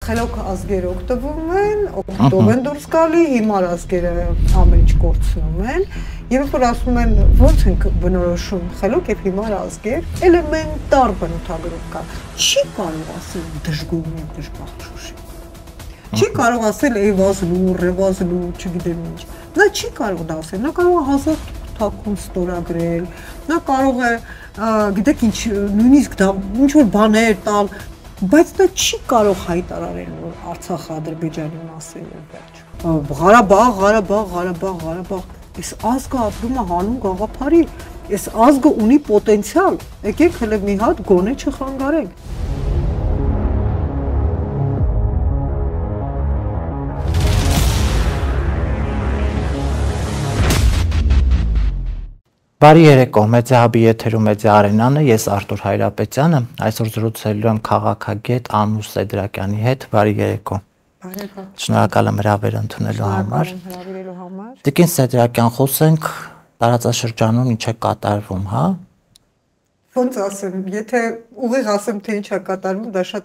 Խելոք ազգերը օգտվում են, օգտով են դուրս գալի, հիմար ազգերը ամեն ինչ կորցնում են, եւ որ ասում են ո՞նց ենք բնորոշում խելոք եւ հիմար ազգեր, էլեմենտար բնութագրում կա։ Չի կարող ասել դժգոհ ու դժբախտ Շուշի։ Չի կարող ասել Էվազլու, Ռևազլու, չգիտեմ ինչ։ Նա չի կարող դա ասել, նա կարող է հազար թաքուն ստորագրել, նա կարող է, գիտեք ինչ, նույնիսկ դա ինչ որ բաներ տալ, բայց դա չի կարող հայտարարել, որ Արցախը Ադրբեջանի մասին է վերջ։ Ղարաբաղ, այս ազգը ապրում է հանուն գաղափարի, այս ազգը ունի պոտենցիալ, եկեք հələ մի հատ գոնե չխանգարենք։ Բարի երեկո, Մեդիահաբի եթերում Մեդիա Արենան է, ես Արտուր Հայրապետյանը, այսօր զրուցելու եմ քաղաքագետ Անուշ Սեդրակյանի հետ, բարի երեկո։ Շնորհակալ եմ հրավեր ընդունելու համար։ Տիկին Սեդրակյան, խոսենք տարածաշրջանում ինչ է կատարվում, հա։ Ոնց ասեմ, եթե ուղիղ ասեմ, թե ինչ է կատարվում, դա շատ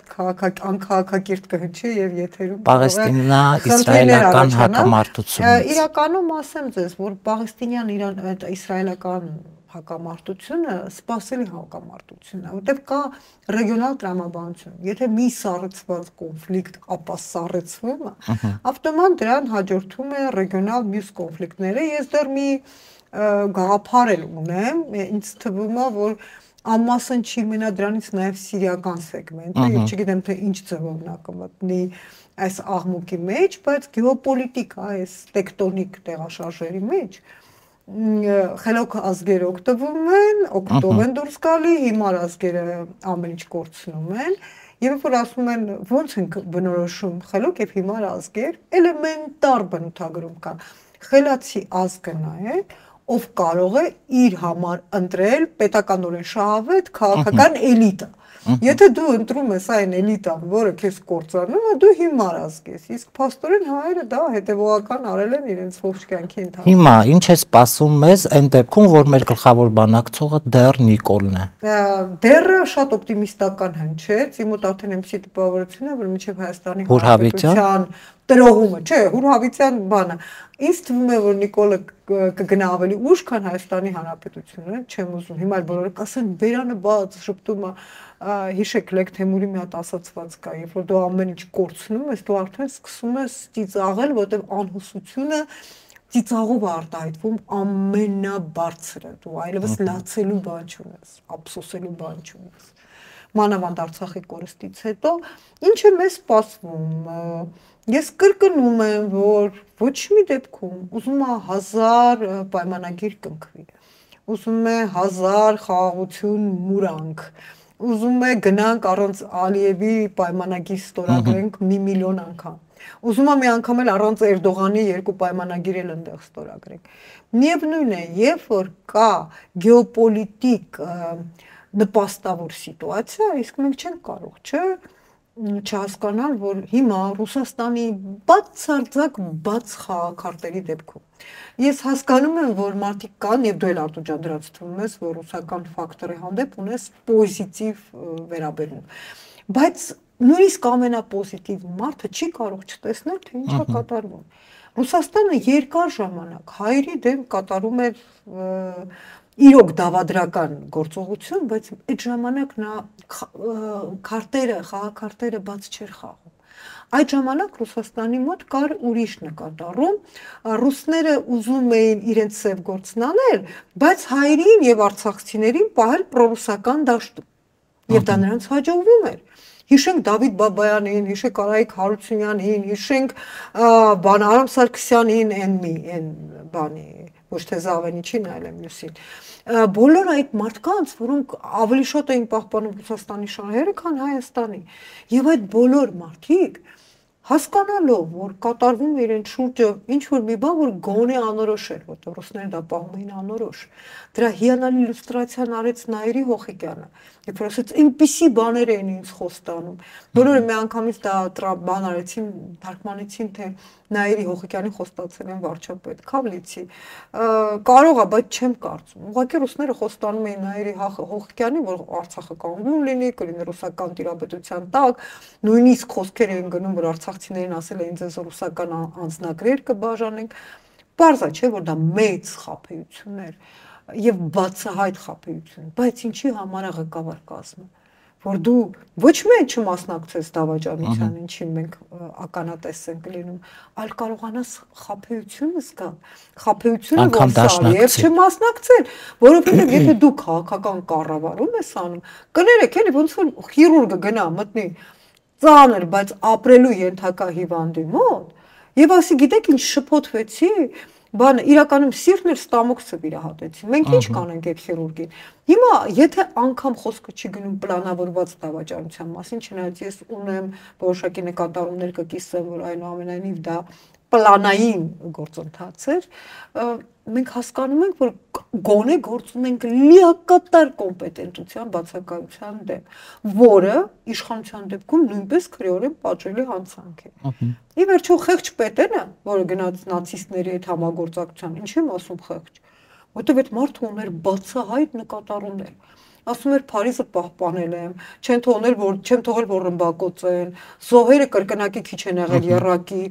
անքաղաքակիրթ կհնչի եւ եթերում Պաղեստինա-իսրայելական հակամարտությունը։ Իրականում ասեմ ձեզ, որ պաղեստինյան իսրայելական հակամարտությունը սպասելի հակամարտություն է, որտեղ կա ռեգիոնալ տրամաբանություն։ Եթե մի սառեցված կոնֆլիկտ ապա սառեցվում է, ավտոմատ դրան հաջորդում է ռեգիոնալ մյուս կոնֆլիկտները։ Ես դեռ մի գաղափար ունեմ, ինձ թվում է, որ ամասն չի մնա դրանից նաև սիրիական սեգմենտը, եւ չգիտեմ թե ինչ ձևով նա կմտնի այս աղմուկի մեջ, բայց գեոպոլիտիկա այս տեկտոնիկ տեղաշարժերի մեջ խելոք ազգերը օգտվում են, օգտով են դուրս գալի, հիմար ազգերը ամեն ինչ կորցնում են, եւ որ ասում են ո՞նց ենք բնորոշում խելոք եւ հիմար ազգեր, էլեմենտար բնութագրում կա։ Խելացի ազգը նա է, ով կարող է իր համար ընտրել պետականորեն շահավետ քաղաքական էլիտա։ Եթե դու ընտրում ես այն էլիտան, որը քեզ կործանում է, դու հիմար ազգ ես, իսկ փաստորեն հայերը դա հետևողական արել են իրենց ողջ կյանքի ընթացքում։ Հիմա ինչ է սպասում մեզ այն դեպքում, որ մեր գլխավոր բանակցողը դեռ Նիկոլն է։ Դեռ շատ օպտիմիստական հնչեց, իմ մոտ արդեն այնպիսի տպավորություն է, որ մինչև Հայաստանի Հանրապետության տրողումը, չէ, Հուրհավիցյան բանը։ Ինձ թվում է, որ Նիկոլը կգնա ավելի ուշ, քան Հայաստանի Հանրապետությունը, չեմ ուզում։ Հիմա բոլորը կասեն բերանը բաց, շփտումը, հիշեք Լեկ Թեմուրի մի հատ ասացված կա, երբ որ դու ամեն ինչ կորցնում ես, դու արդեն սկսում ես ծիծաղել, որտեղ անհուսությունը ծիծաղով արտահայտվում ամենաբարձրը, դու այլևս լացելու բան չունես, ափսոսելու բան չունես։ Մանավանդ Արցախի կորստից հետո ինչ է մեզ սպասվում։ Ես կրկնում եմ, որ ոչ մի դեպքում ուզում է 1000 պայմանագիր կնքվի, ուզում է 1000 խաղաղություն մուրանք, ուզում է գնանք առանց Ալիևի պայմանագիր ստորագրենք մի միլիոն անգամ, ուզում է մի անգամ էլ առանց Էրդողանի 2 պայմանագիր էլ ընդեղ ստորագրենք։ Միևնույն է, երբ որ կա գեոպոլիտիկ նպաստավոր սիտուացիա, իսկ մենք չենք կարող, չէ, չհասկանալ, որ հիմա Ռուսաստանի բացարձակ բաց խաղաքարտերի դեպքում ես հասկանում եմ, որ մարդիկ կան եւ դու էլ Արտուր ջան դրանց թվում ես, որ ռուսական ֆակտորի հանդեպ ունես պոզիտիվ վերաբերում, բայց նույնիսկ ամենապոզիտիվ մարդը չի կարող չտեսնել, թե ինչ է կատարվում։ Ռուսաստանը երկար ժամանակ հայերի դեմ կատարում էր իրոք դավադրական գործողություն, բայց այդ ժամանակ նա խաղաքարտերը բաց չէր խաղում։ Այդ ժամանակ Ռուսաստանի մոտ կար ուրիշ նկատառում, ռուսները ուզում էին իրենց սև գործն անել, բայց հայերին եւ արցախցիներին պահել պրոռուսական դաշտում։ Եվ դա նրանց հաջողվում էր։ Հիշենք Դավիթ Բաբայանին, հիշենք Արայիկ Հարությունյանին, հիշենք Արամ Սարգսյանին, այն բանի, ոչ թե Զավենիչին, այլ մյուսին։ Բոլոր այդ մարդկանց, որոնք ավելի շատ էին պահպանում Ռուսաստանի շահերը, քան Հայաստանի։ Եվ այդ բոլոր մարդիկ հասկանալով, որ կատարվում է իրեն շուրջը ինչ-որ մի բան, որ գոնե անորոշ էր, որտեղ ռուսները դա պահում էին անորոշ։ Դրա հիանալի իլյուստրացիան արեց Նաիրի Հոխիկյանը, երբ որ ասեց այնպիսի բաներ էին ինձ խոստանում։ Բոլորը մի անգամից դա բան արեցին, թարգմանեցին, թե Նաիրի Հոխիկյանին խոստացել են վարչապետ Քավլիցի։ Կարող է, բայց չեմ կարծում։ Ուղղակի ռուսները խոստանում էին Նաիրի Հոխիկյանին, որ Արցախը կանգուն լինի, կլինի ռուսական տիրապետության տակ, նույնիսկ խոսքեր էին գնում, որ արցախցիներին ասել էին ձեզ ռուսական անձնագրեր կբաժանենք։ Պարզ է, չէ, որ դա մեծ խաբեություն էր եւ բացահայտ խաբեություն, բայց ինչի համար է ղեկավար կազմը, որ դու ոչ միայն չմասնակցես դավաճանության, ինչին մենք ականատես ենք լինում, այլ կարողանաս խաբեությունը զգալ, խաբեությունը որսալ եւ չմասնակցել, որովհետեւ եթե դու քաղաքական կառավարում ես անում, կներեք, էլի ոնց որ քիրուրգը գնա մտնի ծանր, բայց ապրելու ենթակա հիվանդի մոտ եւ ասի, գիտեք ինչ շփոթվեցի, բանը իրականում սիրտն էր ստամոքսը վիրահատեցին։ Մենք ինչ կանենք այդ քիրուրգին։ Հիմա եթե անգամ խոսքը չի գնում պլանավորված դավաճանության մասին, չնայած ես ունեմ որոշակի նկատառումներ կկիսեմ, որ այնուամենայնիվ դա պլանային գործընթաց էր, մենք հասկանում ենք, որ գոնե գործ ունենք լիակատար կոմպետենտության բացակայության դեմ, որը իշխանության դեպքում նույնպես քրեորեն պատժելի հանցանք է։ Ի վերջո խեղճ պետենը, որը գնաց նացիստների հետ համագործակցության, ինչ եմ ասում խեղճ, որտեղ այդ մարդը ուներ բացահայտ նկատառումներ։ Ասում էր Փարիզը պահպանել եմ, չեմ թողել որ ռմբակոծեն, զոհերը կրկնակի քիչ են եղել եռակի,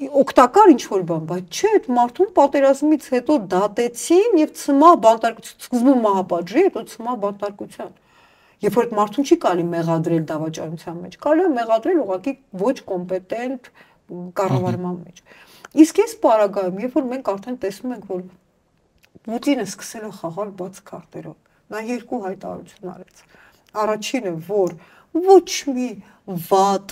օգտակար ինչ-որ բան, բայց չէ, այդ մարդուն պատերազմից հետո դատեցին եւ ցմահ բանտարկություն, սկզբում մահապատժի, հետո ցմահ բանտարկության։ Երբ որ այդ մարդուն չի կարելի մեղադրել դավաճանության մեջ, կարելի է մեղադրել ուղղակի ոչ կոմպետենտ կառավարման մեջ։ Իսկ այս պարագայում, երբ որ մենք արդեն տեսնում ենք, որ Պուտինը սկսել է խաղալ բաց քարտերով, նա երկու հայտարարություն արեց։ Առաջինը, որ ոչ մի վատ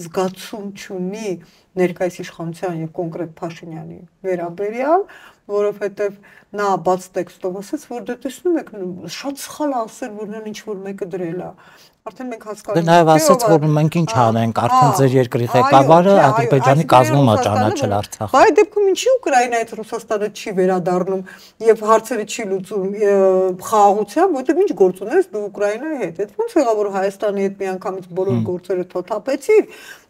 զգացում չունի ներկայիս իշխանության եւ կոնկրետ Փաշինյանի վերաբերյալ, որովհետեւ նա բաց տեքստով ասաց, որ դե տեսնում եք, շատ սխալ է ասել, որ նա ինչ-որ մեկը դրել է։ Արդեն մենք հասկանում ենք, նաեւ ասաց, որ մենք ինչ անենք, արդեն ձեր երկրի ղեկավարը Ադրբեջանի կազմում է ճանաչել Արցախը։ Բայց դեպքում ինչի Ուկրաինայից Ռուսաստանը չի վերադառնում եւ հարցերը չի լուծում խաղաղությամբ, որտեղ ինչ գործ ունես դու Ուկրաինայի հետ։ Այդ ոնց եղավ, որ Հայաստանի հետ միանգամից բոլոր գործերը թոթափեցիր,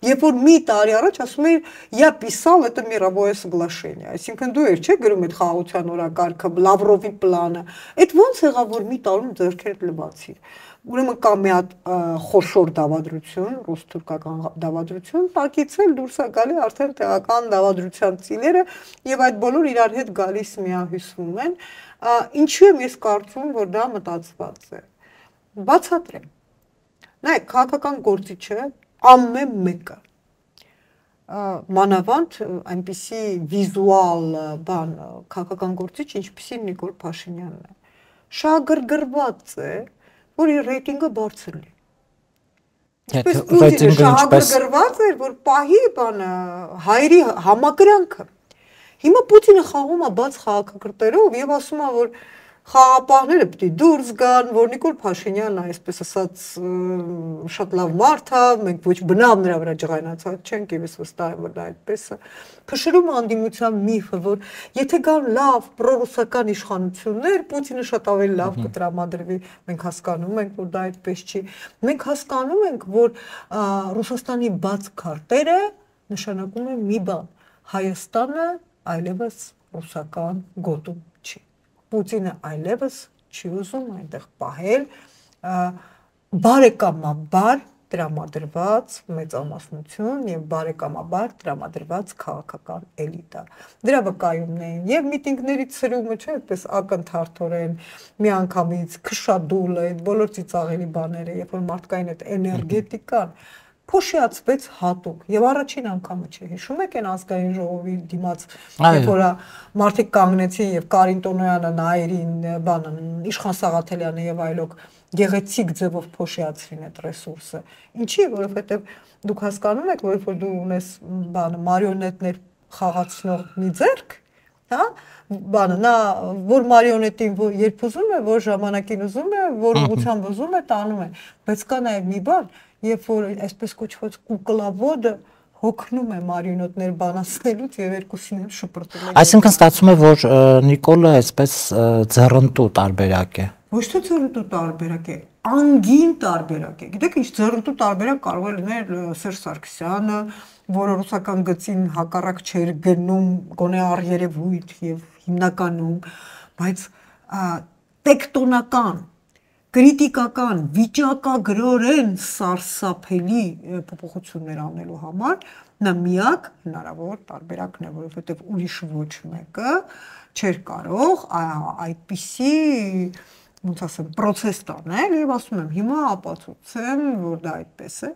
երբ որ մի տարի առաջ ասում էիր, я писал это мировое соглашение, այսինքն դու չէ՞ գրում այդ խաղաղության օրակարգը, Լավրովի պլանը։ Այդ ոնց եղավ, որ մի տարում ձեռքերդ լվացիր։ Ուրեմն կա մի հատ խոշոր դավադրություն, ռուս-թուրքական դավադրություն, տակից էլ դուրս է գալի արդեն տեղական դավադրության ծիլերը եւ այդ բոլոր իրար հետ գալիս միահյուսվում են։ Ինչու եմ ես կարծում, որ դա մտածված է։ Բացատրեմ։ Նայեք, քաղաքական գործիչը ամեն մեկը մանավանդ այնպիսի վիզուալ բան քաղաքական գործիչ, ինչպիսի Նիկոլ Փաշինյանն է, շահագրգռված է, որ իր ռեյտինգը բարձր լինի։ Այսպես Պուտինը շահագրգռված էր, որ պահի բանը հայերի համակրանքը։ Հիմա Պուտինը խաղում է բաց քաղաքակրթերով եւ ասում է, որ խաղապահները պետք է դուրս գան, որ Նիկոլ Փաշինյանն այսպես ասած շատ լավ մարդ է, մենք ոչ բնավ նրա վրա ջղայնացած չենք, եւ ես վստահ եմ, որ դա այդպես է։ Փշրում անդիմության միֆը, որ եթե կան լավ պրոռուսական իշխանություններ, Պուտինը շատ ավելի լավ կտրամադրվի, մենք հասկանում ենք, որ դա այդպես չի։ Մենք հասկանում ենք, որ Ռուսաստանի բաց քարտերը նշանակում է մի բան. Հայաստանը այլևս ռուսական գոտում չի։ Պուտինը այլևս չի ուզում այնտեղ պահել բարեկամաբար տրամադրված մեծամասնություն եւ բարեկամաբար տրամադրված քաղաքական էլիտա։ Դրա վկայումն էին եւ միտինգներից սրումը, չէ՞, այդպես ակնթարթորեն միանգամից քշադուլը, այդ բոլոր ծիծաղելի բաները, երբ որ մարդկային այդ էներգետիկան փոշիացվեց հատուկ եւ առաջին անգամը չէ, հիշում եք այն ազգային ժողովի դիմաց, երբ որ մարդիկ կանգնեցին եւ Կարին Տոնոյանը, Նաիրին, բանը, Իշխան Սաղաթելյանը եւ այլոք գեղեցիկ ձևով փոշիացրին այդ ռեսուրսը։ Ինչի, որովհետեւ դուք հասկանում եք, որ դու ունես բանը մարիոնետներ խաղացնող մի ձեռք, հա, բանը նա որ մարիոնետին երբ ուզում է, որ ժամանակին ուզում է, որ ուղղությամբ ուզում է, տանում է, բայց կա նաեւ մի բան, երբ որ այսպես կոչված կուկլավոդը հոգնում է մարիոնետներ բանացնելուց եւ երկուսին էլ շփրտում է։ Այսինքն ստացվում է, որ Նիկոլը այսպես ձեռնտու տարբերակ է։ Ոչ թե ձեռնտու տարբերակ է, անգին տարբերակ է։ Գիտեք, ինչ ձեռնտու տարբերակ կարող է լինել Սերժ Սարգսյանը, որը ռուսական գծին հակառակ չէր գնում, գոնե առերևույթ եւ հիմնականում, բայց տեկտոնական, կրիտիկական, վիճակագրորեն սարսափելի փոփոխություններ անելու համար նա միակ հնարավոր տարբերակն է, որովհետեւ ուրիշ ոչ մեկը չէր կարող այդպիսի ոնց ասեմ, process տանել եւ ասում եմ, հիմա ապացուցեմ, որ դա այդպես է։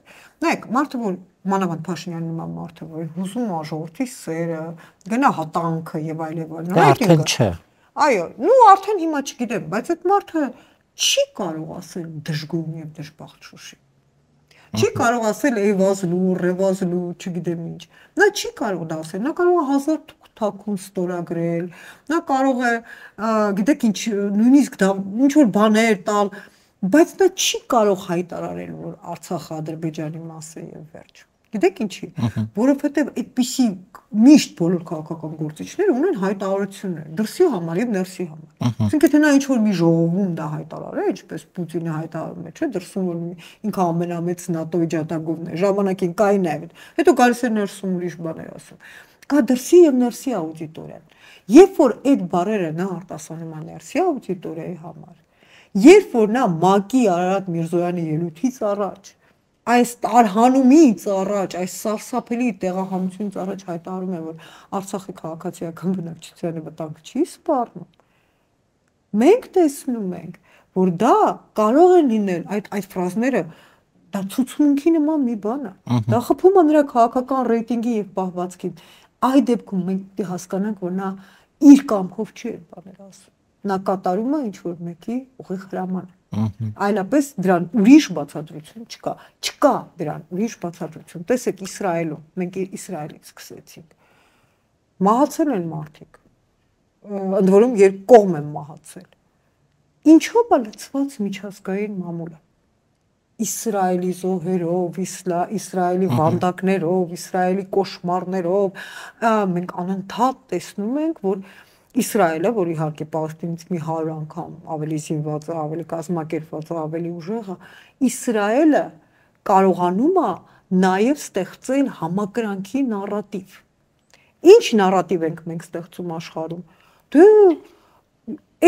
Նայեք, մարդը որ մանավանդ Փաշինյանի նման մարդը, որ հուզում է ժողովրդի սերը, գնա հատանքը եւ այլ եւ այլ։ Արդեն չէ։ Այո, նու արդեն հիմա չգիտեմ, բայց այդ մարդը չի կարող ասել դժգույն եւ դժբախտ Շուշի։ Չի կարող ասել Էվազլու, Ռևազլու, չգիտեմ ինչ։ Նա չի կարող դա ասել, նա կարող է 1000 թաքուն ստորագրել, նա կարող է, գիտեք ինչ, նույնիսկ դա ինչ որ բաներ տալ, բայց նա չի կարող հայտարարել, որ Արցախը Ադրբեջանի մաս է եւ վերջ։ Գիտեք ինչի, որովհետեւ այդպիսի միշտ բոլոր քաղաքական գործիչները ունեն հայտարարություններ, դրսի համար եւ ներսի համար։ Այսինքն թե նա ինչ որ մի ժողովում դա հայտարարել, ինչպես Պուտինը հայտարարում է, չէ, դրսում որ ինքը ամենամեծ ՆԱՏՕ-ի ջատագովն է, ժամանակին կային այլ, հետո գալիս է ներսում ուրիշ բաներ ասում։ Կա դրսի եւ ներսի աուդիտորիան։ Երբ որ այդ բառերը նա արտասանում է ներսի աուդիտորիայի համար, երբ որ նա ՄԱԿ-ի Արարատ Միրզոյանի ելույթից առաջ այս տարհանումից առաջ, այս սարսափելի տեղահանությունից առաջ հայտարարում է, որ Արցախի քաղաքացիական բնակչությանը վտանգ չի սպառնում։ Մենք տեսնում ենք, որ դա կարող է լինել այդ ֆրազները դա ցուցմունքի նման մի բան է։ Դա խփում է նրա քաղաքական ռեյտինգի եւ պահվածքին։ Այդ դեպքում մենք պետք է հասկանանք, որ նա իր կամքով չի բաներ ասում։ Նա կատարում է ինչ որ մեկի ուղիղ հրամանը։ Այլապես դրան ուրիշ բացատրություն չկա։ Չկա դրան ուրիշ բացատրություն։ Տեսեք Իսրայելում, մենք Իսրայելից սկսեցինք։ Մահացել են մարդիկ։ Ընդ որում երբ կողմ են մահացել։ Ինչով է լցված միջազգային մամուլը։ Իսրայելի զոհերով, Իսրայելի վանդակներով, Իսրայելի կոշմարներով մենք անընդհատ տեսնում ենք, որ Իսրայելը, որ իհարկե Պաղեստինից մի 100 անգամ ավելի զինված է, ավելի կազմակերպված է, ավելի ուժեղ է, Իսրայելը կարողանում է նաև ստեղծել համակրանքի նարատիվ։ Ինչ նարատիվ ենք մենք ստեղծում աշխարհում։ Դե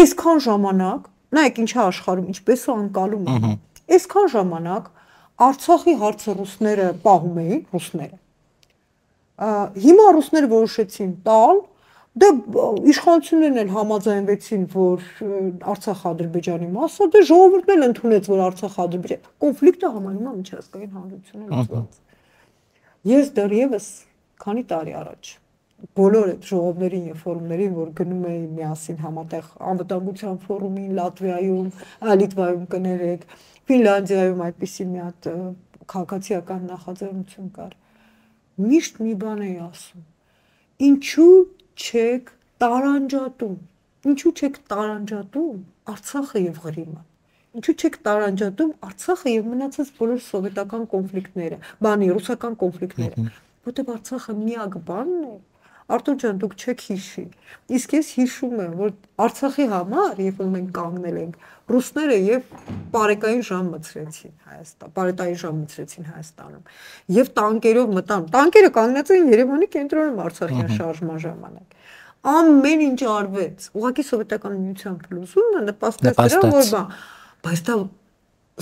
այսքան ժամանակ, նայեք ինչա աշխարհում, ինչպես է անկալում է։ Այսքան ժամանակ Արցախի հարցը ռուսները պահում էին, ռուսները։ Հիմա ռուսները որոշեցին տալ, դե իշխանություններն էլ համաձայնվեցին, որ Արցախը Ադրբեջանի մաս է, դե ժողովուրդն էլ ընդունեց, որ Արցախը Ադրբեջան։ Կոնֆլիկտը համարվում է միջազգային հանրությունը լուծված։ Ես դեռևս քանի տարի առաջ բոլոր այդ ժողովներին եւ ֆորումներին, որ գնում էին միասին համատեղ անվտանգության ֆորումին Լատվիայում, Լիտվայում կներեք, Ֆինլանդիայում այդպիսի մի հատ քաղաքացիական նախաձեռնություն կար։ Միշտ մի բան էի ասում. ինչու չեք տարանջատում, ինչու չեք տարանջատում Արցախը եւ Ղրիմը, ինչու չեք տարանջատում Արցախը եւ մնացած բոլոր սովետական կոնֆլիկտները, ռուսական կոնֆլիկտները, որտեղ Արցախը միակ բանն է։ Արտուր ջան, դուք չեք հիշի։ Իսկ ես հիշում եմ, որ Արցախի համար, երբ որ մենք կանգնել ենք, ռուսները եւ պարետային ժամ մցրեցին Հայաստան, պարետային ժամ մցրեցին Հայաստանում։ Եվ տանկերով մտան։ Տանկերը կանգնած էին Երևանի կենտրոնում Արցախյան շարժման ժամանակ։ Ամեն ինչ արվեց։ Ուղղակի սովետական միության փլուզումը նպաստեց դրան, որ բայց դա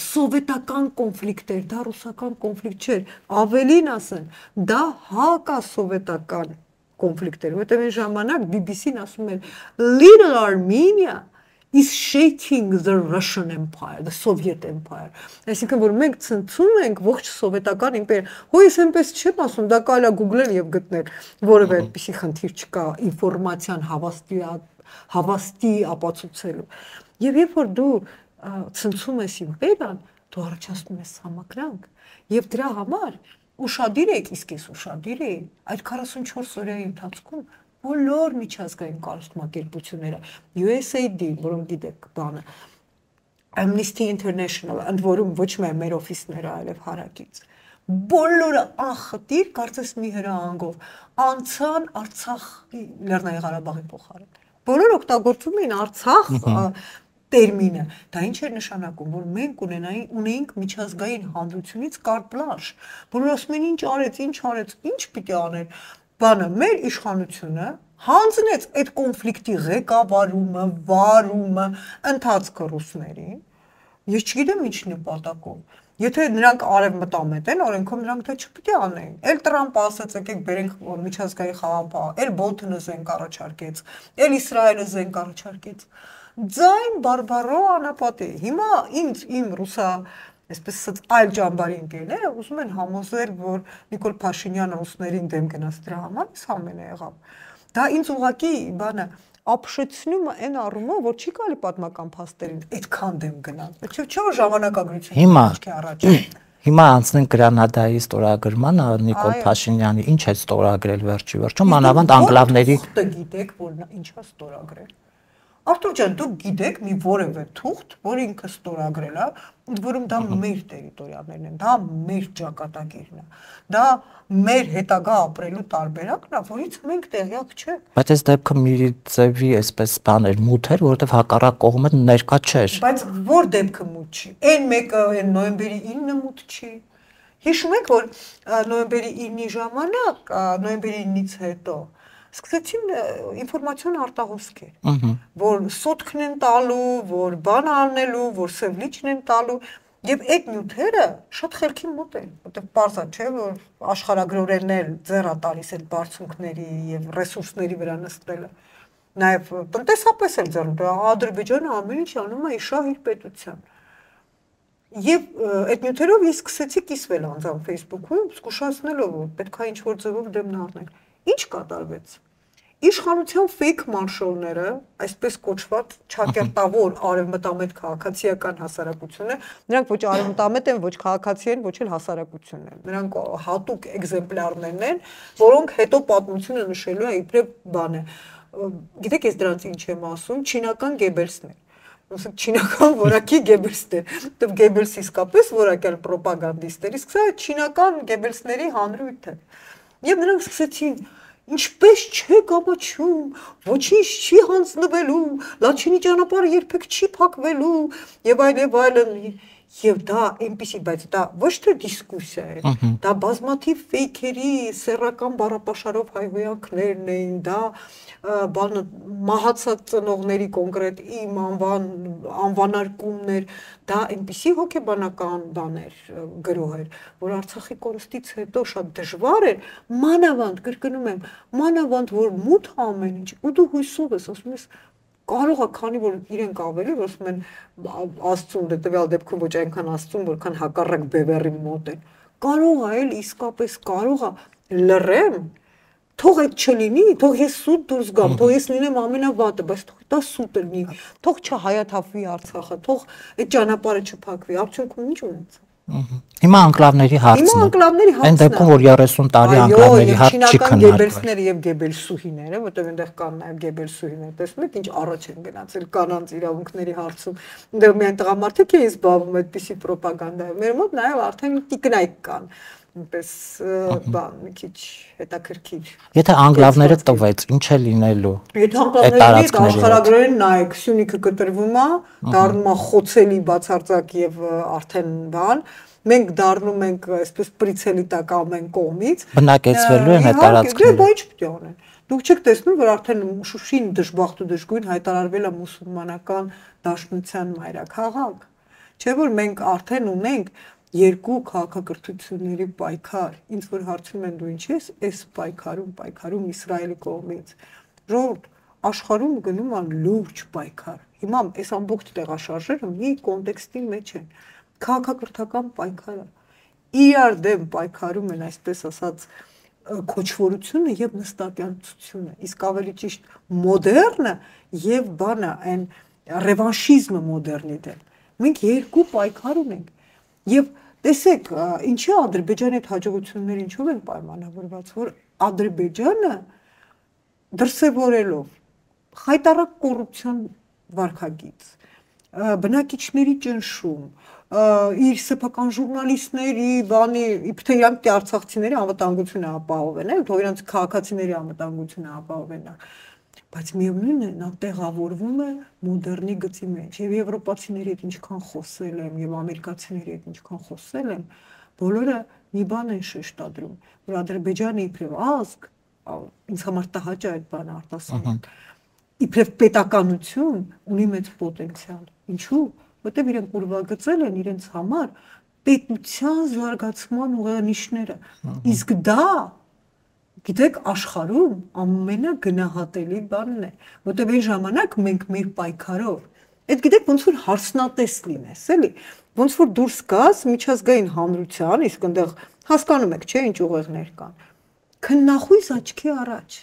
սովետական կոնֆլիկտ էր, դա ռուսական կոնֆլիկտ չէր։ Ավելին ասեն, դա հակասովետական կոնֆլիկտ էր, որտեղ այն ժամանակ BBC-ն ասում էր Little Armenia is shaking the Russian Empire, the Soviet Empire։ Այսինքն որ մենք ցնցում ենք ողջ սովետական իմպերիա։ Հո ես այնպես չեմ ասում, դա կարելի է գուգլել եւ գտնել, որևէ այդպիսի խնդիր չկա ինֆորմացիան հավաստի ապացուցելու։ Եվ երբ որ դու ցնցում ես իմպերիան, դու առաջացնում ես համակրանք եւ դրա համար ուշադիր եք, իսկ ես ուշադիր էի այդ 44 օրերի ընթացքում բոլոր միջազգային կազմակերպությունները, USAID, որոնք գիտեք բանը, Amnesty International, ընդ որում ոչ միայն մեր օֆիսները, այլև հարակից։ Բոլորը անխտիր, կարծես մի հրահանգով անցան Արցախի Լեռնային Ղարաբաղի փոխարեն։ Բոլորը օգտագործում էին Արցախ տերմինը, դա ինչ էր նշանակում, որ մենք ունեինք միջազգային հանրությունից կարտ բլանշ, բոլորը ասում են ինչ արեց, ինչ պիտի աներ, բանը մեր իշխանությունը հանձնեց այդ կոնֆլիկտի ղեկավարումը, վարումը, ընթացքը ռուսներին, ես չգիտեմ ինչ նպատակով, եթե նրանք արևմտամետ են, օրենքով նրանք դա չպիտի անեն, էլ Տրամպը ասաց եկեք բերենք միջազգային խաղապահ, էլ Բոլթոնը զենք առաջարկեց, էլ Իսրայելը զենք առաջարկեց, ձայն բարբարո անապատի, հիմա իմ ռուսա այսպես ասած այլ ճամբարի ընկերները ուզում են համոզել, որ Նիկոլ Փաշինյանը ռուսներին դեմ գնաց դրա համար, այս ամենը եղավ։ Դա ինձ ուղղակի բանը ապշեցնում է այն առումով, որ չի կարելի պատմական փաստերին այդքան դեմ գնալ։ Չէ՞ որ ժամանակագրությունը աչքի առաջ է։ Հիմա անցնենք Գրանադայի ստորագրմանը, Նիկոլ Փաշինյանի ինչ է ստորագրել վերջի մանավանդ անկլավների։ Դուք գիտեք, որ նա ինչ է ստորագրել։ Արտուր ջան, դուք գիտեք մի որևէ թուղթ, որ ինքը ստորագրել է, որում դա մեր տերիտորիաներն են, դա մեր ճակատագիրն է, դա մեր հետագա ապրելու տարբերակն է, որից մենք տեղյակ չենք։ Բայց այս դեպքը մի ձևի այսպես բան էր, մութ էր, որովհետև հակառակ կողմը ներկա չէր։ Բայց որ դեպքը մութ չի։ Այն մեկը այն նոյեմբերի 9-ը մութ չի։ Հիշում եք, որ նոյեմբերի 9-ի ժամանակ, նոյեմբերի 9-ից հետո սկսեցին ինֆորմացիոն արտահոսքեր, որ սոտքն են տալու, որ բան անելու, որ սևլիչն են տալու, եւ այդ նյութերը շատ խելքի մոտ են, որտեղ պարզ է, չէ, որ աշխարհագրորեն էլ ձեռա տալիս այդ բարձունքների եւ ռեսուրսների վրա նստելը։ Նաեւ տնտեսապես էլ ձեռն, Ադրբեջանը ամեն ինչ անում է իշահ իր պետության։ Եվ այդ նյութերով ես սկսեցի կիսվել անձամբ Facebook-ում, զգուշացնելով, որ պետք է ինչ-որ ձևով դեմն առնել։ Ինչ կատարվեց։ Իշխանության fake մարշալները, այսպես կոչված ճակերտավոր արևմտամետ քաղաքացիական հասարակությունը, նրանք ոչ արևմտամետ են, ոչ քաղաքացի են, ոչ էլ հասարակություն են։ Նրանք հատուկ էկզեմպլյարներն են, որոնք հետո պատմությունը նշելու է իբրև բան է։ Գիտեք, ես դրանց ինչ եմ ասում, չինական Գեբելսներ։ Չինական որակի Գեբելսներ, դեռ Գեբելսը իսկապես որակյալ պրոպագանդիստ էր, իսկ սա չինական Գեբելսների հանրույթ է։ Եվ նրանք սկսեցին, ինչպես չեք ամաչում, ոչինչ չի հանձնվելու, Լաչինի ճանապարհը երբեք չի փակվելու, եւ այլն, եւ դա այնպեսի, բայց դա ոչ թե դիսկուսիա է, դա բազմաթիվ ֆեյքերի, սեռական բառապաշարով հայհոյանքներն էին, դա բանը մահացած ծնողների կոնկրետ իմ անվանարկումներ, դա այնպեսի հոգեբանական բաներ գրող էր, որ Արցախի կորստից հետո շատ դժվար էր, մանավանդ, կրկնում եմ, մանավանդ, որ մութ ամեն ինչ, ու դու հույսով ես, ասում ես, կարող է, քանի որ իրենք ավելի, որ ասում են Աստծուն, դե տվյալ դեպքում ոչ այնքան Աստծուն, որքան հակառակ բևեռի մոտ են, կարող է էլ իսկապես կարող է լռեմ, թող այդ չլինի, թող ես սուտ դուրս գամ, թող ես լինեմ ամենավատը, բայց թող դա սուտ լինի, թող չհայաթափվի Արցախը, թող այդ ճանապարհը չփակվի, արդյունքում ինչ ունեցա։ Հիմա անկլավների հարցն է։ Այն դեպքում, որ 30 տարի անկլավների հարց չի քննարկվել։ Գեբելսները եւ Գեբելսուհիները, որտեղ այնտեղ կան նաեւ Գեբելսուհիներ, տեսնում եք, ինչ առաջ են գնացել կանանց իրավունքների հարցում։ Այնտեղ միայն տղամարդիկ էին զբաղվում այդպիսի պրոպագանդայով։ Մեր մոտ նաեւ արդեն տիկնայք կան։ Այնպես բան, մի քիչ հետաքրքիր։ Եթե անկլավները տվեց, ինչ է լինելու։ Եթե անկլավների աշխարհագրորեն նայեք, Սյունիքը կտրվում է, դառնում է խոցելի բացարձակ եւ արդեն բան, մենք դառնում ենք այսպես պրիցելի տակ ամեն կողմից։ Բնակեցվելու են այդ տարածքները։ Դա ինչ պետք է անեն։ Դուք չեք տեսնում, որ արդեն Շուշին դժբախտ ու դժգույն հայտարարվել է մուսուլմանական դաշնության մայրաքաղաք։ Չէ՞ որ մենք արդեն ունենք երկու քաղաքակրթությունների պայքար, ինձ որ հարցնում են դու ինչ ես, այս պայքարում Իսրայելի կողմից, ժողովուրդ, աշխարհում գնում է լուրջ պայքար, հիմա այս ամբողջ տեղաշարժերը մի կոնտեքստի մեջ են, քաղաքակրթական պայքարը, իրար դեմ պայքարում են այսպես ասած քոչվորությունը եւ նստակյանցությունը, իսկ ավելի ճիշտ մոդեռնը եւ բանը այն ռևանշիզմը մոդեռնի դեմ, մենք երկու պայքար ունենք եւ տեսեք, ինչի Ադրբեջանի այդ հաջողությունները ինչով են պայմանավորված, որ Ադրբեջանը դրսևորելով խայտառակ կոռուպցիոն վարքագիծ, բնակիչների ճնշում, իր սեփական ժուրնալիստների, բանի, իբր թե իրանք արցախցիների անվտանգությունը ապահովեն, էլ թող իրանք քաղաքացիների անվտանգությունը ապահովեն։ Բայց միևնույնն է, նա տեղավորվում է մոդեռնի գծի մեջ, եւ եվրոպացիների հետ ինչքան խոսել եմ, եւ ամերիկացիների հետ ինչքան խոսել եմ, բոլորը մի բան են շեշտադրում, որ Ադրբեջանը իբրև ազգ, ինձ համար տհաճ է այդ բանը արտասանել, իբրև պետականություն ունի մեծ պոտենցիալ։ Ինչու՞, որտեղ իրենք ուրվագծել են իրենց համար պետության զարգացման ուղենիշները։ Իսկ դա, գիտեք, աշխարհում ամենագնահատելի բանն է, որտեղ այն ժամանակ մենք մեր պայքարով, այդ գիտեք ոնց որ հարցնատես լինես, էլի, ոնց որ դուրս գաս միջազգային հանրության, իսկ այնտեղ հասկանում եք, չէ՞, ինչ ուղեղներ կան, քննախույս աչքի առաջ։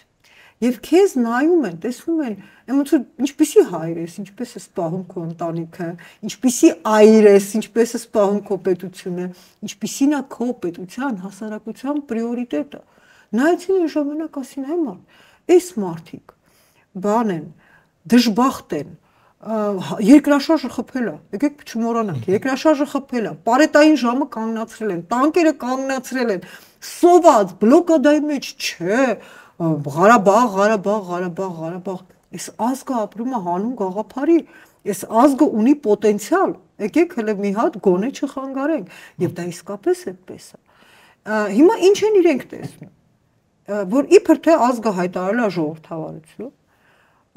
Եվ քեզ նայում են, տեսնում են, ոնց որ ինչպեսի հայր ես, ինչպես ես պահում քո ընտանիքը, ինչպեսի այր ես, ինչպես ես պահում քո պետությունը, ինչպեսին է քո պետության հասարակության պրիորիտետը։ Նայեցին այն ժամանակ ասին այ այս մարդիկ բան են, դժբախտ են, երկրաշարժը խփել է, եկեք չմոռանանք, երկրաշարժը խփել է, պարետային ժամը կանգնացրել են, տանկերը կանգնացրել են, սոված բլոկադայի մեջ չէ, Ղարաբաղ, այս ազգը ապրում է հանուն գաղափարի, այս ազգը ունի պոտենցիալ, եկեք հələ մի հատ գոնե չխանգարենք, եւ դա իսկապես այդպես է։ Հիմա ինչ են իրենք տեսնում, որ իբր թե ազգը հայտարարել է ժողովրդավարություն,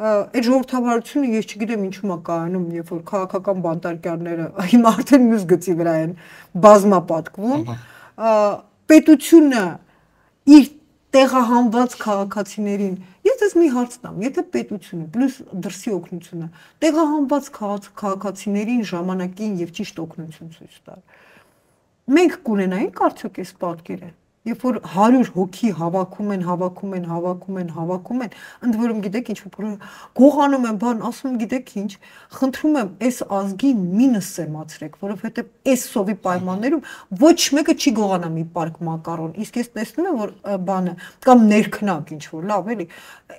այդ ժողովրդավարությունը ես չգիտեմ ինչու՞մ է կայանում, երբ որ քաղաքական բանտարկյալները հիմա արդեն մյուս գծի վրա են բազմապատկվում, պետությունը իր տեղահանված քաղաքացիներին, ես ես մի հարց տամ, եթե պետությունը պլյուս դրսի օգնությունը տեղահանված քաղաքացիներին ժամանակին եւ ճիշտ օգնություն ցույց տալ, մենք կունենայինք արդյոք այս պատկերը, երբ որ 100 հոգի հավաքում են, ընդ որում գիտեք ինչ գողանում են, բան ասում գիտեք ինչ, խնդրում եմ այս ազգի մինը սեմացրեք, որովհետեւ այս սովի պայմաններում ոչ մեկը չի գողանա մի պարկ մակարոն, իսկ ես տեսնում եմ որ բանը կամ ներքնակ ինչ որ լավ էլի,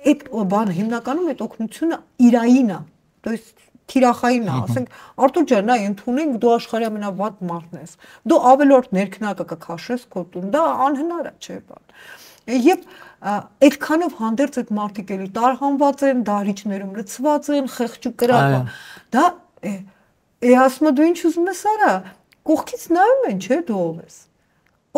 այդ բանը հիմնականում այդ օգնությունը իրային է, то есть թիրախային է, ասենք Արտուր ջան, նա ընդունենք դու աշխարհի ամենավատ մարդն ես։ Դու ավելորդ ներքնակը կքաշես քո տուն, դա անհնար է, չէ՞ բան։ Եվ այդքանով հանդերձ այդ մարդիկ էլի տարհանված են, դահլիճներում լցված են, խեղճ ու կրակ։ Դա ասում եմ դու ինչ ուզում ես արա, կողքից նայում են, չէ՞ դու ով ես։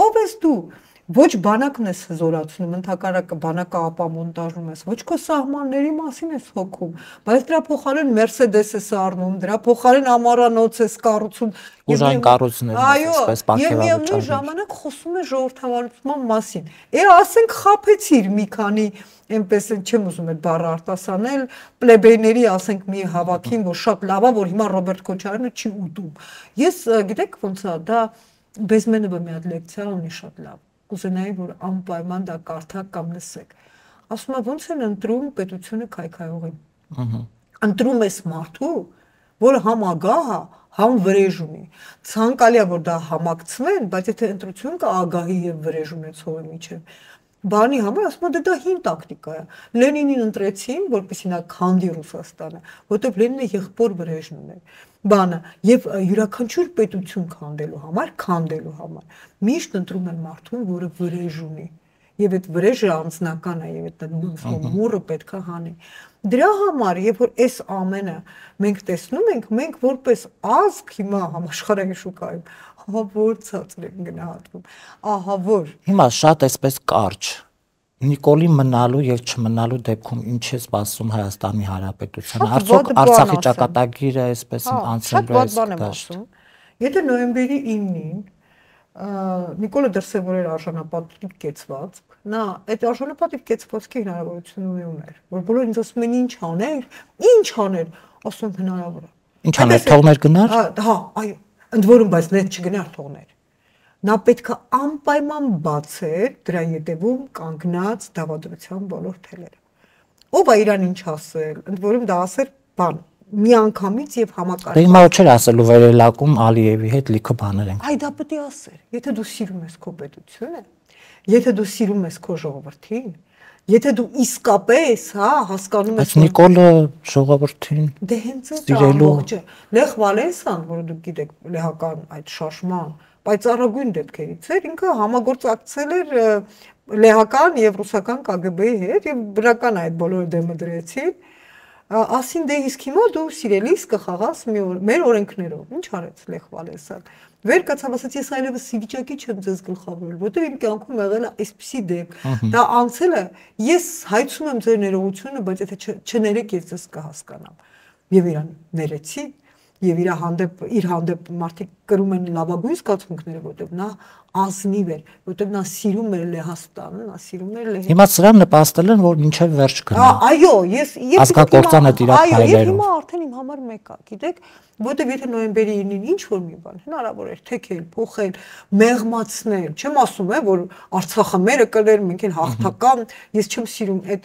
Ով ես դու։ Ոչ բանակն ես հզորացնում, ընդհակառակը բանակը ապամոնտաժում ես, ոչ քո սահմանների մասին ես հոգում, բայց դրա փոխարեն Mercedes ես առնում, դրա փոխարեն ամառանոց ես կառուցում, ուժային կառույցներ ես այսպես պարգևաբաճառում։ Եվ միևնույն ժամանակ խոսում է ժողովրդավարության մասին։ Ասենք խափեցիր մի քանի, այնպես չեմ ուզում այդ բառը արտասանել, պլեբեյների, ասենք մի հավաքին, որ շատ լավ է, որ հիմա Ռոբերտ Քոչարյանը չի ուտում։ Ես գիտեք ոնց է, դա Բեզմենովը մի հատ լեկցիա ունի շատ լավ։ Կուզենայի, որ անպայման դա կարդաք կամ լսեք։ Ասում է ոնց են ընտրում պետությունը քայքայողին։ Ընտրում ես մարդու, որը համ ագահ է, համ վրեժ ունի։ Ցանկալի է որ դա համակցվեն, բայց եթե ընտրություն կա ագահի եւ վրեժ ունեցողի միջեւ, բանի համար ասում է դա հին տակտիկա է։ Լենինին ընտրեցին, որպեսզի նա քանդի Ռուսաստանը, որտեղ Լենինը եղբոր վրեժն ուներ։ Բանը եւ յուրաքանչյուր պետություն քանդելու համար միշտ ընտրում են մարդուն, որը վրեժ ունի եւ այդ վրեժը անձնական է եւ այդ մուրը պետքա հանի։ Դրա համար երբ որ այս ամենը մենք տեսնում ենք, մենք որպես ազգ հիմա համաշխարհային շուկայում ահա որ ցածր են գնահատվում, ահա որ հիմա շատ այսպես կարճ Նիկոլի մնալու եւ չմնալու դեպքում ինչ է սպասում Հայաստանի Հանրապետությանը։ Արդյոք Արցախի ճակատագիրը այսպես անցնելու է դաշտ։ Եթե նոյեմբերի 9-ին Նիկոլը դրսևորել արժանապատիվ կեցված, նա այդ արժանապատիվ կեցվածքի հնարավորություն ուներ, որ բոլորը ինձ ասում են ինչ աներ, ասում հնարավոր է։ Ինչ աներ, թողներ գնար։ Հա, այո, ընդ որում բայց net չգնար թողներ։ Նա պետք է անպայման բացեր դրա ետևում կանգնած դավադրության բոլոր թելերը։ Ով է իրան ինչ ասել, ընդ որում դա ասել բան միանգամից եւ համակարգ։ Դե հիմա չէր ասելու վերելակում Ալիևի հետ լիքը բաներ են։ Այ դա պետք է ասեր, եթե դու սիրում ես քո պետությունը, եթե դու սիրում ես քո ժողովրդին, Եթե դու իսկապես, հա, հասկանում ես, բայց Նիկոլը ժողովրդին դե հենց այդ ամբողջը Լեխ Վալենսան, որը դուք գիտեք, լեհական այդ շարժման պայծառագույն դեպքերից էր, ինքը համագործակցել էր լեհական եւ ռուսական KGB-ի հետ եւ բնական այդ բոլորը դեմը դրեցին, ասին դե իսկ հիմա դու սիրելիս կխաղաս մեր օրենքներով, ինչ արեց Լեխ Վալենսան, վեր կացավ, ասաց ես այլևս վիճակի չեմ ձեզ գլխավորել, որտեղ իմ կյանքում եղել է այսպիսի դեպք, դա անցել է, ես հայցում եմ ձեր ներողությունը, բայց եթե չներեք ես ձեզ կհասկանամ, եւ իրան ներեցի, եւ իր հանդեպ մարդիկ կրում են լավագույն զգացմունքները, որտեղ նա ազնիվ էր, որտեղ նա սիրում էր Լեհաստանը, նա սիրում էր Լեհը։ Հիմա սրան նպաստել են, որ մինչև վերջ գնա։ Այո, ես կործանը դիրա այո, եւ հիմա արդեն իմ համար մեկ է, գիտեք, որտեղ եթե նոյեմբերի 9-ին ինչ որ մի բան հնարավոր էր թեքել, փոխել, մեղմացնել, չեմ ասում, որ Արցախը մերը կներ, մենք էլ հաղթական, ես չեմ սիրում այդ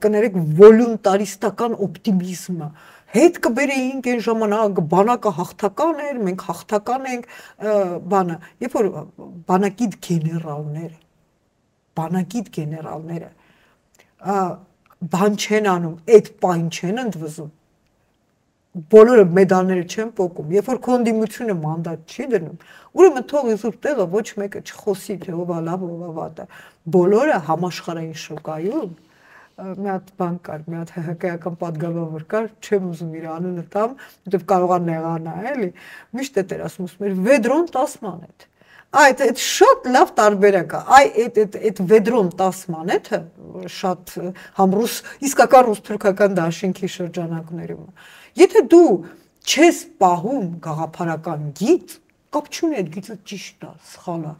կներեք վոլունտարիստական օպտիմիզմը։ Հետ կբերեինք այն ժամանակ բանակը հաղթական էր, մենք հաղթական ենք, բանը, երբ որ բանակիդ գեներալները բան չեն անում, այդ պայն չեն ընդվզում, բոլորը մեդալները չեն պոկում, երբ որ կոնդիմությունը մանդատ չի դնում, ուրեմն թող իզուր տեղը ոչ մեկը չխոսի, թե ով է լավ, ով է վատը, բոլորը համաշխարհային շոկայում մի հատ բան կար, մի հատ ՀՀԿ-ական պատգամավոր կար, չեմ ուզում իր անունը տամ, որտեվ կարող է նեղանա, էլի, միշտ էր ասում, Վեդրոն 10 մանեթ։ Այդ շատ լավ տարբերակ է, այդ Վեդրոն 10 մանեթը շատ համ ռուս, իսկական ռուս-թուրքական դաշինքի շրջանակներում։ Եթե դու չես պահում գաղափարական գիծ, կապ չունի այդ գիծը ճիշտ է, սխալ է։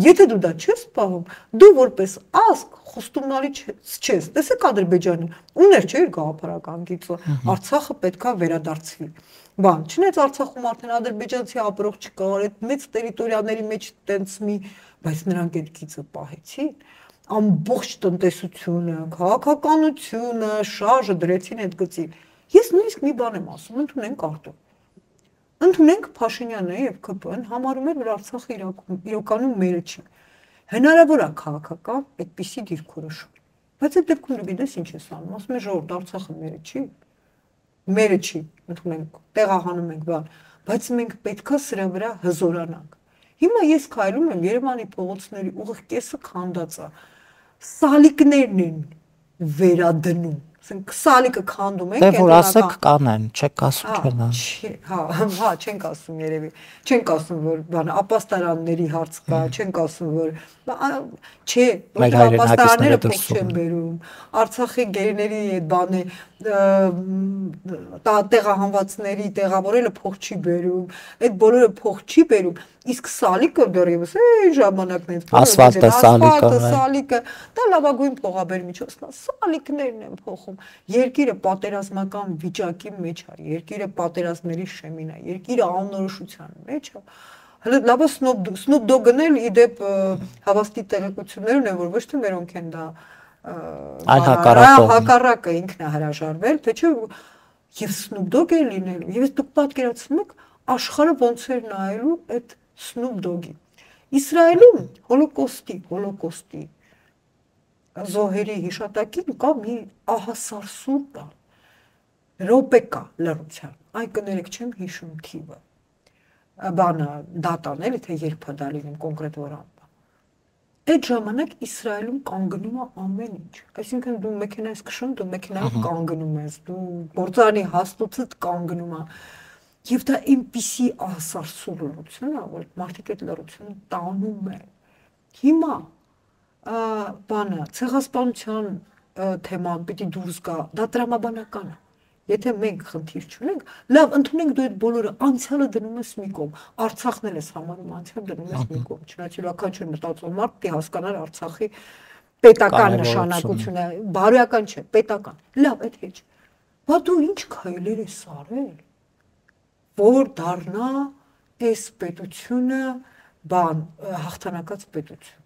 Եթե դու դա չես պահում, դու որպես ազգ խոստումնալի չես։ Տեսեք Ադրբեջանը ուներ չէ՞ իր գաղափարական գիծը, Արցախը պետքա վերադարձվի։ Բան, չնայած Արցախում արդեն ադրբեջանցի ապրող չկար, այդ մեծ տերիտորիաների մեջ տենց մի, բայց նրանք այդ գիծը պահեցին, ամբողջ տնտեսությունը, քաղաքականությունը, շարժը դրեցին այդ գծին։ Ես նույնիսկ մի բան եմ ասում, ընդունենք արդյոք։ Ընդունենք Փաշինյանը եւ ԿՊ-ն համարում էր, որ Արցախը իրականում մերը չի։ Հնարավոր է քաղաքական այդպիսի դիրքորոշում։ Բայց այդ դեպքում դու գիտես ինչ ես անում, ասում ես ժողովուրդ Արցախը մերը չի, ընդունենք, տեղահանում ենք բան, բայց մենք պետքա սրա վրա հզորանանք։ Հիմա ես քայլում եմ Երևանի փողոցների ուղիղ կեսը քանդած է։ Սալիկներն են վերադնում։ Ասենք սալիկը քանդում ենք, դե որ ասեք կանեն, չեք ասում չնա։ Հա, չենք ասում երևի։ Չենք ասում որ բան ապաստարանների հարց կա, չենք ասում որ չէ, որ ապաստարանները փող չեն բերում։ Արցախի գերիների այդ բանը տեղահանվածների տեղավորելը փող չի բերում, այդ բոլորը փող չի բերում, իսկ սալիկը դեռևս այն ժամանակներից ասֆալտը, սալիկը, դա լավագույն փողաբեր միջոցն է, սալիկներն են փոխում։ Երկիրը պատերազմական վիճակի մեջ է, երկիրը պատերազմների շեմին է, երկիրը անորոշության մեջ է։ Հələ լավը Snoop Dogg-ն էլ իդեպ հավաստի տեղեկություններն են, որ ոչ թե մերոնք են դա հակառակը ինքն է հրաժարվել, թե չէ եւ Snoop Dogg-ը լինելու։ Եվ դուք պատկերացնում եք աշխարհը ոնց էր նայելու այդ Snoop Dogg-ի։ Իսրայելում հոլոկոստի զոհերի հիշատակին կա մի ահասարսուր բան։ Ռոպե կա լրության։ Այ կներեք չեմ հիշում թիվը։ Բանը դատան էլի թե երբ է դա լինում կոնկրետ օրը։ Այդ ժամանակ Իսրայելում կանգնում է ամեն ինչ։ Այսինքն դու մեքենայից քշում, դու մեքենայով կանգնում ես, դու գործարանի հաստոցդ կանգնում է։ Եվ դա այնպիսի ահասարսուր լրություն է, որ մարդիկ այդ լրությունը տանում են։ Հիմա բանը ցեղասպանության թեման պիտի դուրս գա, դա տրամաբանական է։ Եթե մենք խնդիր չունենք, լավ, ընդունենք դու այդ բոլորը անցյալը դնում ես մի կողմ, Արցախն էլ ես համարում անցյալ դնում ես մի կողմ, չնայած յուրաքանչյուր մտածող մարդ պիտի հասկանար Արցախի պետական նշանակությունը, բարոյական չէ, պետական։ Լավ, այդ հեչ։ Բա դու ինչ քայլեր ես արել, որ դառնա այս պետությունը բան հաղթանակած պետություն։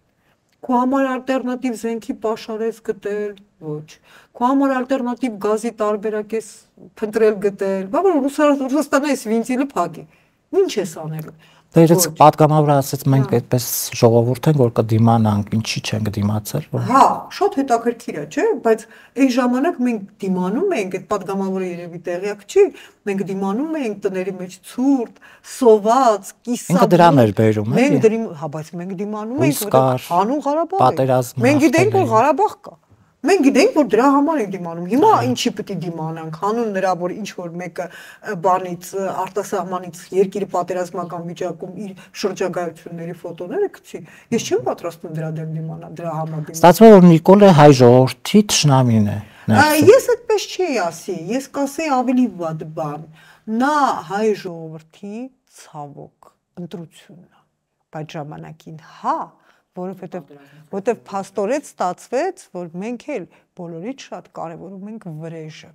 Քո համար ալտերնատիվ զենքի պաշարես գտել, ոչ։ Քո համար ալտերնատիվ գազի տարբերակ ես փնտրել գտել, բա որ Ռուսաստանը այս վինտիլը փակի։ Ինչ ես անելու։ Դե իրենց պատգամավորը ասեց մենք այդպես ժողովուրդ ենք որ կդիմանանք, ինչի չենք դիմացել, որ Հա, շատ հետաքրքիր է, չէ՞, բայց այն ժամանակ մենք դիմանում ենք, այդ պատգամավորը երևի տեղյակ չի, մենք դիմանում ենք տների մեջ ցուրտ, սոված, կիսա։ Ինքը դրան էր բերում, էլի։ Հա, բայց մենք դիմանում ենք, որ հանուն Ղարաբաղ է։ Մենք գիտենք, որ Ղարաբաղ կա։ Մենք գիտենք, որ դրա համար ենք դիմանում։ Հիմա ինչի պետք է դիմանանք, հանուն նրա, որ ինչ որ մեկը բանից արտասահմանից երկիրը պատերազմական վիճակում իր շրջագայությունների ֆոտոները գցի։ Ես չեմ պատրաստվում դրա դեմ դիմանալ, դրա համար դիմանալ։ Ստացվում է, որ Նիկոլը հայ ժողովրդի թշնամին է։ Ես այդպես չի ասի, ես կասեի ավելի վատ բան։ Նա հայ ժողովրդի ցավոք ընտրությունն է։ Բայց ժամանակին հա որովհետև փաստորեն ստացվեց, որ մենք էլ բոլորից շատ կարևորում ենք վրեժը։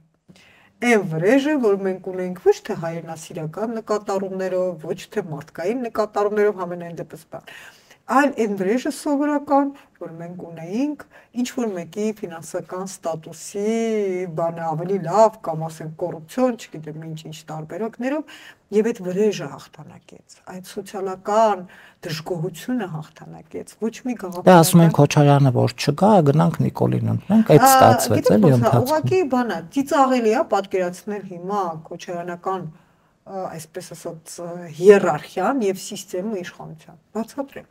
Այն վրեժը, որ մենք ունենք ոչ թե հայրենասիրական նկատառումներով, ոչ թե մարդկային նկատառումներով ամենայն դեպս բան, այլ այն վրեժը սովորական, որ մենք ունեինք ինչ որ մեկի ֆինանսական ստատուսի բանը ավելի լավ կամ ասենք կոռուպցիոն, չգիտեմ ինչ տարբերակներով եւ այդ վրեժը հաղթանակեց, այդ սոցիալական դժգոհությունը հաղթանակեց, ոչ մի գաղափար։ Դա ասում են Քոչարյանը որ չգա, գնանք Նիկոլին ընտրենք, այդ ստացվեց էլի ընթացքում։ Ուղղակի բանա, ծիծաղելի է պատկերացնել հիմա քոչարյանական այսպես ասած հիերարխիան եւ սիստեմը իշխանության։ Բացատրեմ։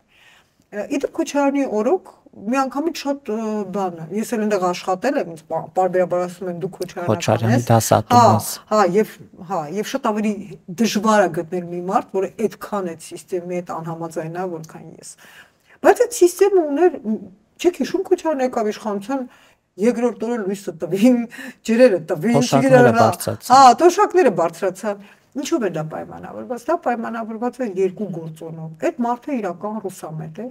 Իդեպ Քոչարյանի օրոք միանգամից շատ բան է։ Ես էլ այնտեղ աշխատել եմ, բարբերաբար ասում են դու Քոչարյանի դասատու ես։ Եվ շատ ավելի դժվար է գտնել մի մարդ, որը այդքան այդ սիստեմի հետ անհամաձայն է, որքան ես։ Բայց այդ սիստեմը ուներ, չեք հիշում Քոչարյանը եկավ իշխանության երկրորդ օրը լույսը տվին, ջրերը տվին, տոշակները բարձրացան։ Ինչով է դա պայմանավորված։ Դա պայմանավորված է երկու գործոնով։ Այդ մարդը իրական ռուսամետ էր,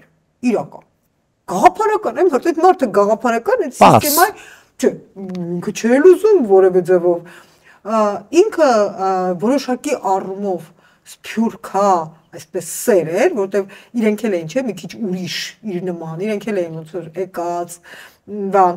իրական։ Գաղափարական, այդ մարդը գաղափարական այդ սիստեմայի, չէ, ինքը չէր ուզում որևէ ձևով։ Ինքը որոշակի առումով սփյուռքա, այսպես սեր էր, որտեվ իրենք էլ էին, չէ, մի քիչ ուրիշ իր նման, իրենք էլ էին ոնց որ եկած, բան,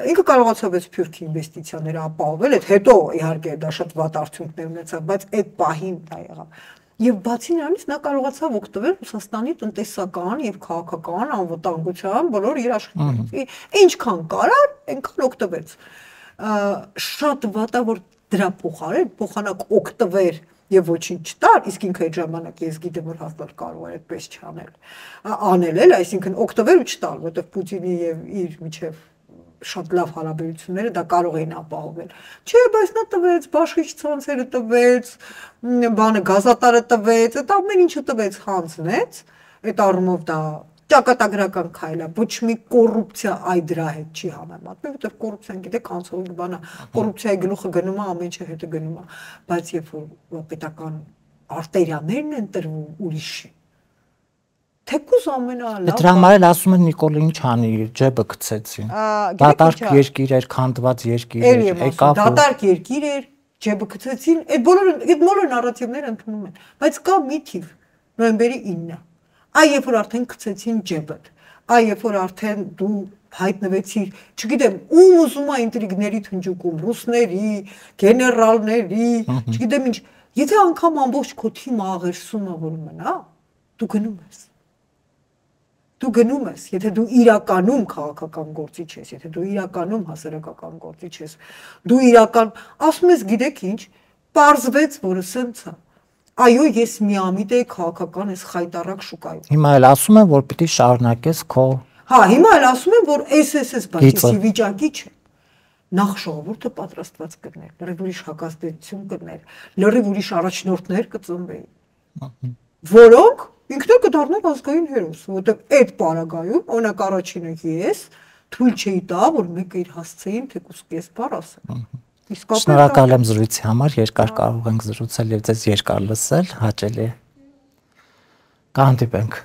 ինքը կարողացավ այդ սփյուռքի ինվեստիցիաները ապահովել, այդ հետո իհարկե դա շատ վատ արդյունքներ ունեցավ, բայց այդ պահին դա եղավ։ Եվ բացի նրանից նա կարողացավ օգտվել Ռուսաստանի տնտեսական եւ քաղաքական անվտանգության բոլոր երաշխիքներից։ Ինչքան կարար, այնքան օգտվեց։ Շատ վատ է, որ դրա փոխանակ օգտվեր եւ ոչինչ չտար, իսկ ինքը այդ ժամանակ ես գիտեմ որ հաստատ կարող էր այդպես չանել էլ, այսինքն օգտվել ու չտալ, որովհետեւ Պուտինի եւ իր միջև շատ լավ հարաբերությունները դա կարող էին ապահովել։ Չէ, բայց նա տվեց, բաշխիչ ցանցերը տվեց, բանը գազատարը տվեց, այդ ամեն ինչը տվեց, հանձնեց, այդ առումով դա ճակատագրական քայլ է, ոչ մի կոռուպցիա այ դրա հետ չի համեմատվում, որովհետև կոռուպցիան գիտեք կանցողի բան է, կոռուպցիայի գլուխը գնում է, ամեն ինչը հետը գնում է, բայց երբ որ պետական արտերիաներն են տրվում ուրիշի, թեկուզ ամենալավ։ Դրա համար էլ ասում են Նիկոլը ինչ անի, ջեբը գցեցին։ Դատարկ երկիր էր, քանդված երկիր էր, եկավ։ Դատարկ երկիր էր, ջեբը գցեցին, այդ բոլոր նարատիվները ընդունում են, բայց կա մի թիվ, նոյեմբերի 9-ը։ Այ երբ որ արդեն գցեցին ջեբդ, այ երբ որ արդեն դու հայտնվեցիր, չգիտեմ, ում ուզում է ինտրիգների թնջուկում, ռուսների, գեներալների, չգիտեմ ինչ, եթե անգամ ամբողջ քո թիմը աղերսում է որ մնա, դու գնում ես։ Դու գնում ես, եթե դու իրականում քաղաքական գործիչ ես, եթե դու իրականում հասարակական գործիչ ես, դու իրական, ասում ես գիտեք ինչ, պարզվեց, որը սենց է։ Այո, ես միամիտ էի քաղաքական այս խայտարակ շուկայում։ Հիմա էլ ասում են, որ պիտի շարունակես քո։ Հա, հիմա էլ ասում են, որ SSS բացի վիճակի չէ։ Նախ ժողովուրդը պատրաստված կներ, լրիվ ուրիշ հակազդեցություն կներ, լրիվ ուրիշ առաջնորդներ կծնվեին, որոնք ինքնը կդառնան ազգային հերոս, որովհետև այդ պարագայում օրինակ առաջինը ես թույլ չէի տա, որ մեկը իր հասցեին թեկուզ կեսբար ասի։ Շնորհակալ եմ զրույցի համար, երկար կարող ենք զրուցել եւ ձեզ երկար լսել, հաճելի է։ Կհանդիպենք։